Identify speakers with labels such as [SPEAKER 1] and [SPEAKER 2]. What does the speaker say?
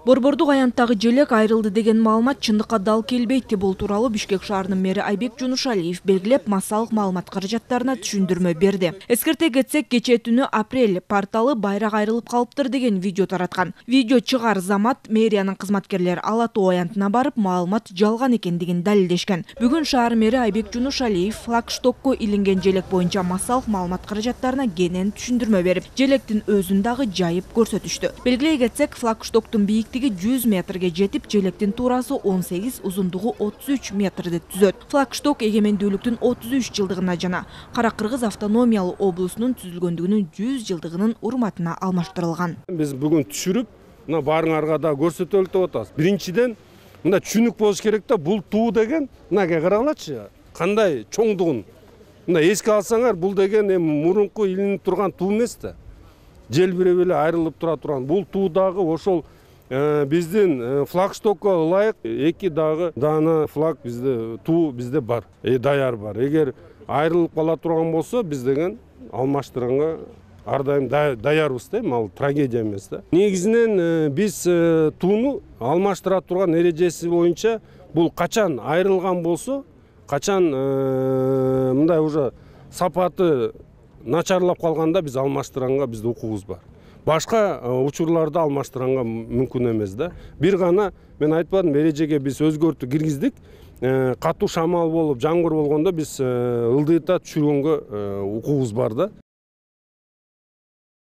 [SPEAKER 1] Борбордук аянттагы желек айрылды деген маалымат чындыкка дал келбейт. Бул тууралуу Бишкек шаарынын мэри Айбек Жунушалиев белгилеп массалык маалымат каражаттарына түшүндүрмө берди. Эскерте кетсек, кечээ түнү Апрель порталы байрак айрылып калыптыр деген видео тараткан. Видео чыгаар замат мэриянын кызматкерлери Ала Тоо аянтына барып, маалымат жалган экендигин далилдешкен. Бүгүн шаар мэри Айбек Жунушалиев флагштокко илинген желек боюнча массалык маалымат каражаттарына кенен түшүндүрмө берип, желектин өзүн дагы жайып көрсөтүштү. Белгилей кетсек, флагштоктун бийиктиги 100 метрге жетип, желектин туурасы 18, узундугу 33 метрди түзөт. Флагшток эгемендүүлүктүн 33 жылдыгына жана Кара Кыргыз автономиялуу облусунун түзүлгөндүгүнүн 100 жылдыгынын урматына алмаштырылган.
[SPEAKER 2] Биз бүгүн түшүрүп, мына баарыңарга да көрсөтөлү деп атабыз. Биринчиден, мында түшүнүк болуш керек да, бул туу деген, мынага карагылачы, кандай чоңдугун. Мында эске алсаңар, бул деген мурунку илинип турган туу эмес да. Желбиреп эле айрылып тура турган. Бул туу дагы ошол биздин флагштокко ылайык 2 дагы даана флаг бизде, туу бизде бар, даяр бар. Эгер айрылып кала турган болсо, биз деген алмаштырганга ар дайым даярбыз да, ал трагедия эмес да. Негизинен биз тууну алмаштыра турган эрежеси боюнча бул качан айрылган болсо, качан мындай уже сапаты начарлап калганда биз алмаштырганга бизде укугубуз бар. Башка учурларда алмаштырганга мүмкүн эмес да. Бир гана мен айтпадым, эрежеге биз өзгөртүү киргиздик. Катуу шамал болуп, жамгыр болгондо биз ылдыйта түшүргөнгө укугубуз бар да.